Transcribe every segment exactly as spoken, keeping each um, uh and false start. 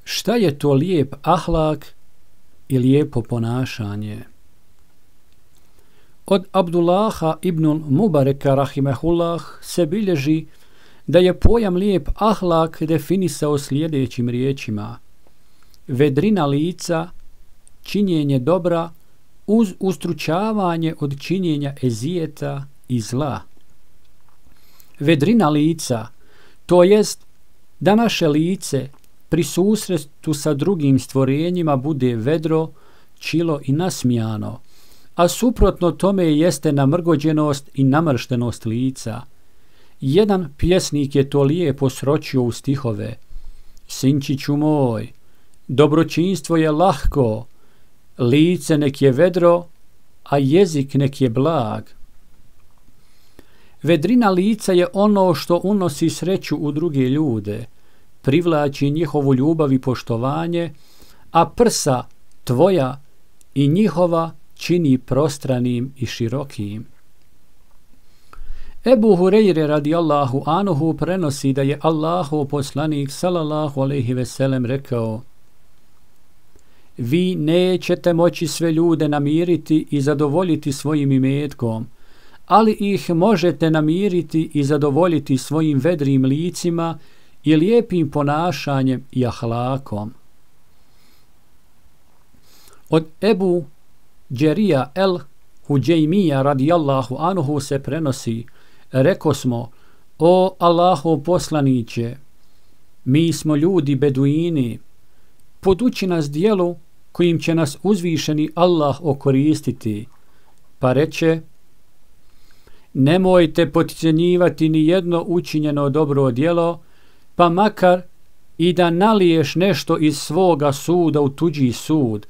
Šta je to lijep ahlak i lijepo ponašanje? Od Abdullaha ibnul Mubareka rahimehullah se bilježi da je pojam lijep ahlak definisao sljedećim riječima: vedrina lica, činjenje dobra uz ustručavanje od činjenja ezijeta i zla. Vedrina lica, to jest da naše lice pri susretu sa drugim stvorenjima bude vedro, čilo i nasmijano, a suprotno tome jeste namrgođenost i namrštenost lica. Jedan pjesnik je to lijepo sročio u stihove: sinčiću moj, dobročinstvo je lahko, lice nek je vedro, a jezik nek je blag. Vedrina lica je ono što unosi sreću u druge ljude, privlači njihovu ljubav i poštovanje, a prsa tvoja i njihova čini prostranim i širokim. Ebu Hureyre radijallahu anhu prenosi da je Allahov poslanik sallallahu alejhi ve sellem rekao: vi nećete moći sve ljude namiriti i zadovoljiti svojim imetkom, ali ih možete namiriti i zadovoljiti svojim vedrim licima i lijepim ponašanjem i ahlakom. Od Ebu Džerija el Huđejmija radijallahu anhu se prenosi: reko smo, o Allahov poslaniće, mi smo ljudi beduini, poduči nas dijelu kojim će nas uzvišeni Allah okoristiti. Pa reče: nemojte potcijenjivati ni jedno učinjeno dobro djelo, pa makar i da naliješ nešto iz svoga suda u tuđi sud,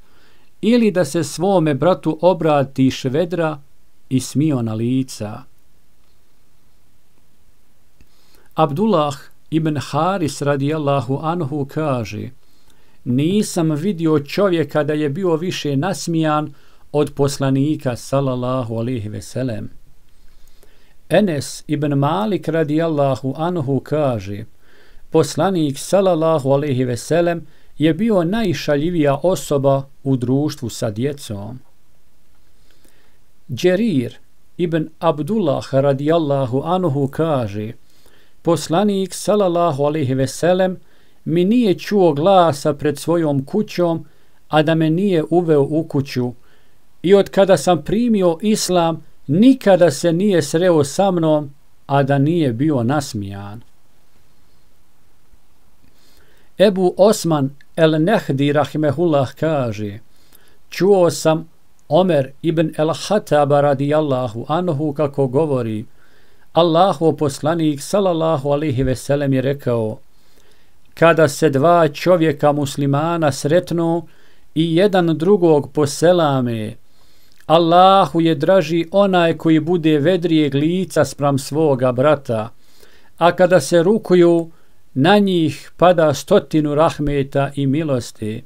ili da se svome bratu obratiš vedra i smiona lica. Abdullah ibn Haris radijallahu anhu kaže: nisam vidio čovjeka da je bio više nasmijan od poslanika sallallahu alejhi ve sellem. Enes ibn Malik radijallahu anhu kaže: poslanik sallallahu alejhi ve sellem je bio najšaljivija osoba u društvu sa djecom. Džerir ibn Abdullah radijallahu anhu kaže: poslanik sallallahu alejhi ve sellem mi nije čuo glasa pred svojom kućom, a da me nije uveo u kuću, i od kada sam primio islam nikada se nije sreo sa mnom, a da nije bio nasmijan. Ebu Osman el Nehdi rahimehullah kaže: čuo sam Omer ibn el Hataba radijallahu anhu kako govori: Allahov poslanik sallallahu alejhi ve sellem je rekao: kada se dva čovjeka muslimana sretnu i jedan drugog poselame, Allahu je draži onaj koji bude vedrijeg lica spram svoga brata, a kada se rukuju, na njih pada stotinu rahmeta i milosti.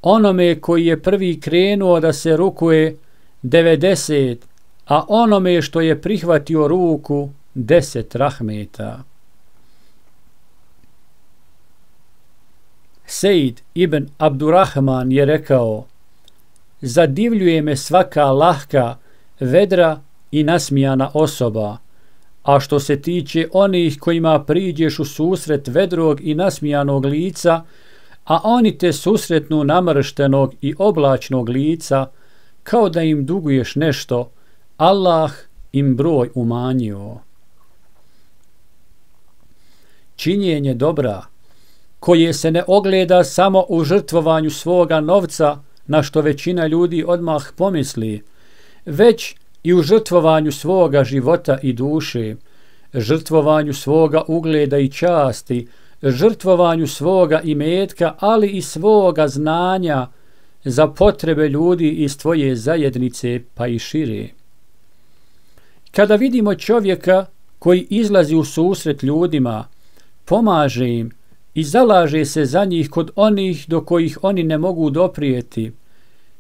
Onome koji je prvi krenuo da se rukuje, devedeset, a onome što je prihvatio ruku, deset rahmeta. Sejd ibn Abdurrahman je rekao: zadivljuje me svaka lahka, vedra i nasmijana osoba, a što se tiče onih kojima priđeš u susret vedrog i nasmijanog lica, a oni te susretnu namrštenog i oblačnog lica, kao da im duguješ nešto, Allah im broj umanjio. Činjenje dobra, koje se ne ogleda samo u žrtvovanju svoga novca, na što većina ljudi odmah pomisli, već i u žrtvovanju svoga života i duše, žrtvovanju svoga ugleda i časti, žrtvovanju svoga imetka, ali i svoga znanja za potrebe ljudi iz tvoje zajednice pa i šire. Kada vidimo čovjeka koji izlazi u susret ljudima, pomaže im i zalaže se za njih kod onih do kojih oni ne mogu doprijeti,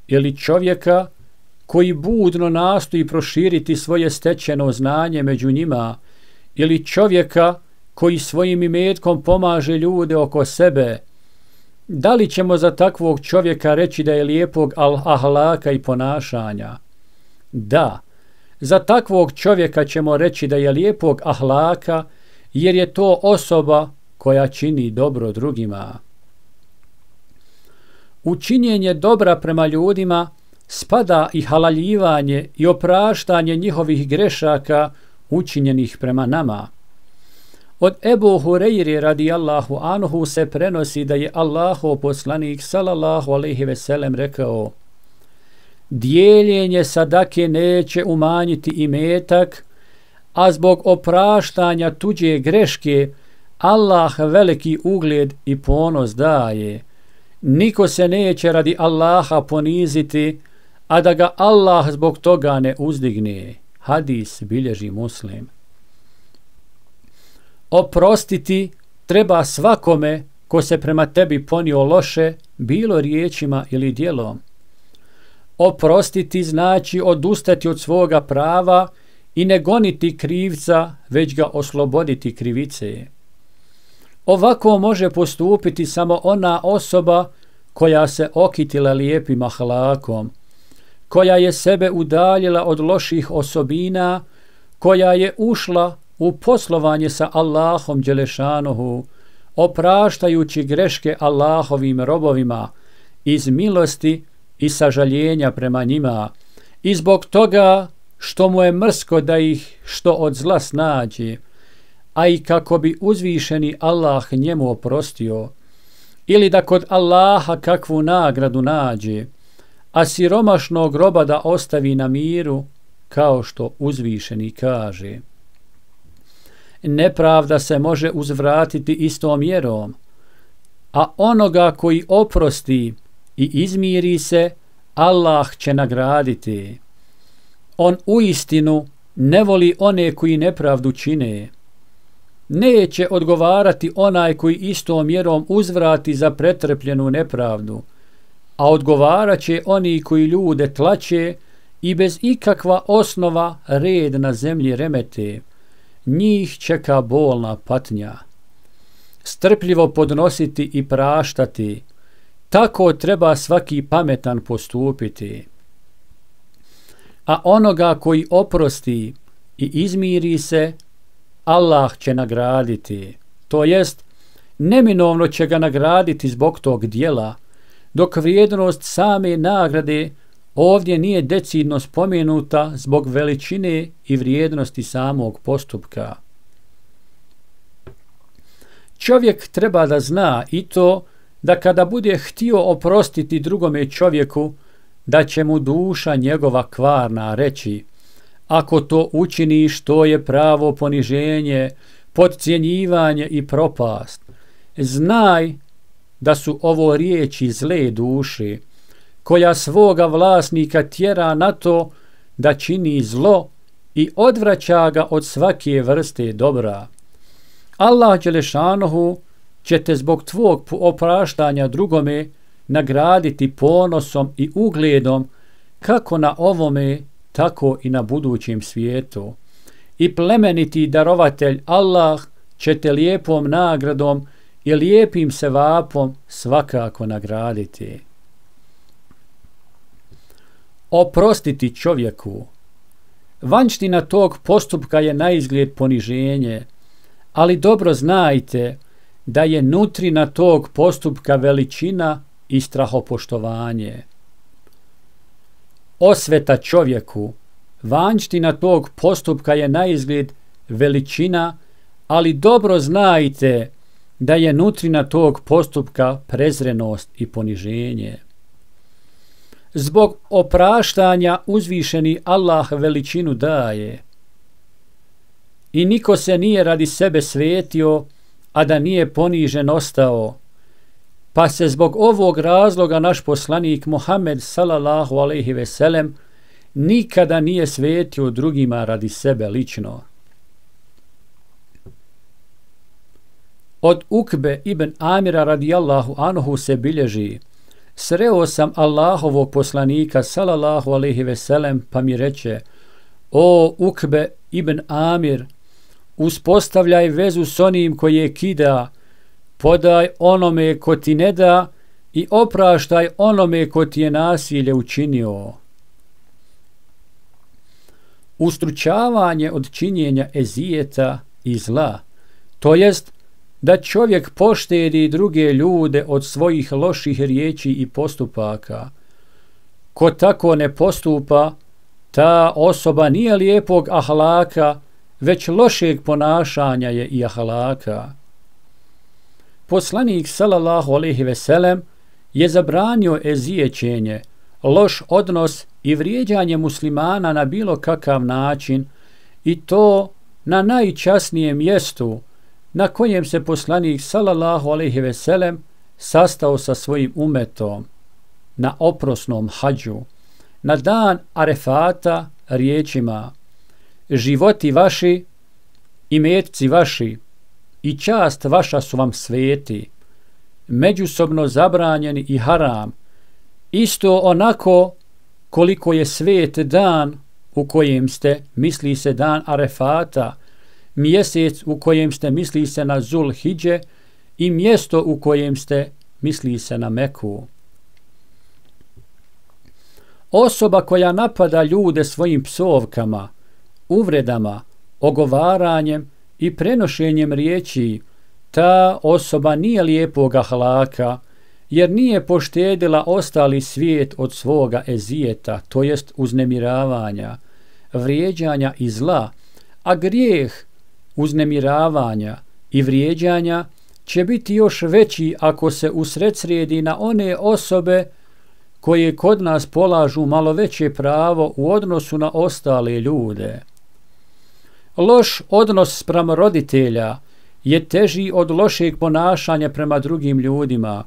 ili čovjeka koji budno nastoji proširiti svoje stečeno znanje među njima, ili čovjeka koji svojim imetkom pomaže ljude oko sebe, Da li ćemo za takvog čovjeka reći da je lijepog ahlaka i ponašanja? Da, za takvog čovjeka ćemo reći da je lijepog ahlaka, jer je to osoba koja čini dobro drugima. U činjenje dobra prema ljudima spada i halaljivanje i opraštanje njihovih grešaka učinjenih prema nama. Od Ebu Hureyre radijallahu anhu se prenosi da je Allahov poslanik sallallahu alejhi ve sellem rekao: dijeljenje sadake neće umanjiti imetak, a zbog opraštanja tuđe greške Allah veliki ugled i ponos daje. Niko se neće radi Allaha poniziti, a da ga Allah zbog toga ne uzdigne. Hadis bilježi Muslim. Oprostiti treba svakome ko se prema tebi ponio loše, bilo riječima ili djelom. Oprostiti znači odustati od svoga prava i ne goniti krivca, već ga osloboditi krivice. Ovako može postupiti samo ona osoba koja se okitila lijepim ahlakom, koja je sebe udaljila od loših osobina, koja je ušla u poslovanje sa Allahom dželešanohu, opraštajući greške Allahovim robovima iz milosti i sažaljenja prema njima, i zbog toga što mu je mrsko da ih što od zla snađe, a i kako bi uzvišeni Allah njemu oprostio, ili da kod Allaha kakvu nagradu nađe, a siromašnog roba da ostavi na miru, kao što uzvišeni kaže: nepravda se može uzvratiti istom mjerom, a onoga koji oprosti i izmiri se, Allah će nagraditi. On uistinu ne voli one koji nepravdu čine. Neće odgovarati onaj koji istom mjerom uzvrati za pretrpljenu nepravdu, a odgovarat će oni koji ljude tlače i bez ikakva osnova red na zemlji remete. Njih čeka bolna patnja. Strpljivo podnositi i praštati, tako treba svaki pametan postupiti. A onoga koji oprosti i izmiri se, Allah će nagraditi, to jest neminovno će ga nagraditi zbog tog dijela, dok vrijednost same nagrade ovdje nije decidno spomenuta zbog veličine i vrijednosti samog postupka. Čovjek treba da zna i to da kada bude htio oprostiti drugome čovjeku, da će mu duša njegova kvarna reći: ako to učiniš, to je pravo poniženje, podcjenjivanje i propast. Znaj da su ovo riječi zle duše, koja svoga vlasnika tjera na to da čini zlo i odvraća ga od svake vrste dobra. Allah dželešanohu će te zbog tvog opraštanja drugome nagraditi ponosom i ugledom, kako na ovome, tako i na budućem svijetu. I plemeniti darovatelj Allah će te lijepom nagradom i lijepim sevapom svakako nagraditi. Oprostiti čovjeku. Vanština tog postupka je naizgled poniženje, ali dobro znajte da je nutrina tog postupka veličina i strahopoštovanje. Osveta čovjeku. Vanština tog postupka je naizgled veličina, ali dobro znajte da je nutrina tog postupka prezrenost i poniženje. Zbog opraštanja uzvišeni Allah veličinu daje. I niko se nije radi sebe svetio, a da nije ponižen ostao. Pa se zbog ovog razloga naš poslanik Muhammed sallallahu alejhi ve sellem nikada nije svetio drugima radi sebe lično. Od Ukbe ibn Amira radijallahu anhu se bilježi: sreo sam Allahovog poslanika sallallahu alejhi ve sellem, pa mi reče: o Ukbe ibn Amir, uspostavljaj vezu s onim koje kida, podaj onome ko ti ne da i opraštaj onome ko ti je nasilje učinio. Ustručavanje od činjenja ezijeta i zla, to jest da čovjek poštedi druge ljude od svojih loših riječi i postupaka. Ko tako ne postupa, ta osoba nije lijepog ahlaka, već lošeg ponašanja je i ahlaka. Poslanik sallallahu alejhi ve sellem je zabranio ezijećenje, loš odnos i vrijeđanje muslimana na bilo kakav način, i to na najčasnijem mjestu na kojem se poslanik sallallahu alejhi ve sellem sastao sa svojim umetom, na oprosnom hadžu, na dan Arefata, riječima: životi vaši, imetci vaši i čast vaša su vam sveti, međusobno zabranjeni i haram, isto onako koliko je svet dan u kojem ste, misli se dan Arefata, mjesec u kojem ste, misli se na Zul Hidže, i mjesto u kojem ste, misli se na Meku. Osoba koja napada ljude svojim psovkama, uvredama, ogovaranjem i prenošenjem riječi, ta osoba nije lijepog ahlaka, jer nije poštedila ostali svijet od svoga ezijeta, to jest uznemiravanja, vrijeđanja i zla, a grijeh uznemiravanja i vrijeđanja će biti još veći ako se usredsredi na one osobe koje kod nas polažu malo veće pravo u odnosu na ostale ljude. Loš odnos spram roditelja je teži od lošeg ponašanja prema drugim ljudima.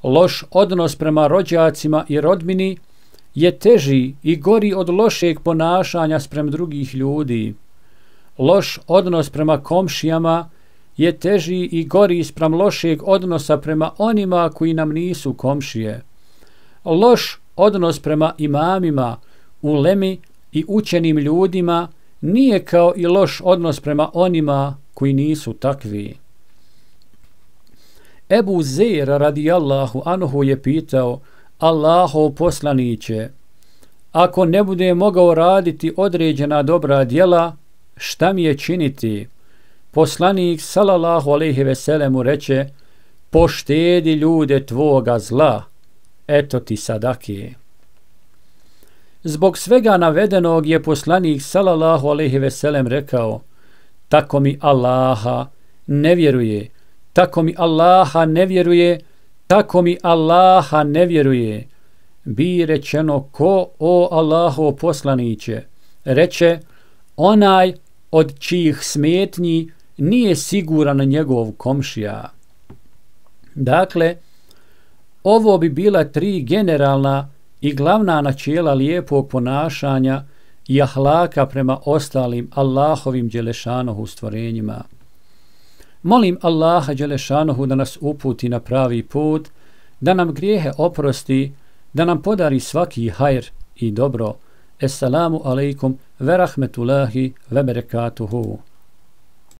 Loš odnos prema rođacima i rodbini je teži i gori od lošeg ponašanja sprem drugih ljudi. Loš odnos prema komšijama je teži i gori sprem lošeg odnosa prema onima koji nam nisu komšije. Loš odnos prema imamima, ulemi i učenim ljudima nije kao i loš odnos prema onima koji nisu takvi. Ebu Zer radijallahu anhu je pitao: Allahov poslaniće, ako ne bude mogao raditi određena dobra djela, šta mi je činiti? Poslanik sallallahu alejhi ve sellem reče: poštedi ljude tvoga zla, eto ti sadake. Zbog svega navedenog je poslanik sallallahu alejhi ve sellem rekao: tako mi Allaha ne vjeruje, tako mi Allaha ne vjeruje, tako mi Allaha ne vjeruje. Bi rečeno: ko, o Allahov poslaniće? Reče: onaj od čijih smetnji nije siguran njegov komšija. Dakle, ovo bi bila tri generalna i glavna načela lijepog ponašanja i ahlaka prema ostalim Allahovim dželešanohu stvorenjima. Molim Allaha dželešanohu da nas uputi na pravi put, da nam grijehe oprosti, da nam podari svaki hajr i dobro. Esselamu alaikum ve rahmetullahi ve berekatuhu.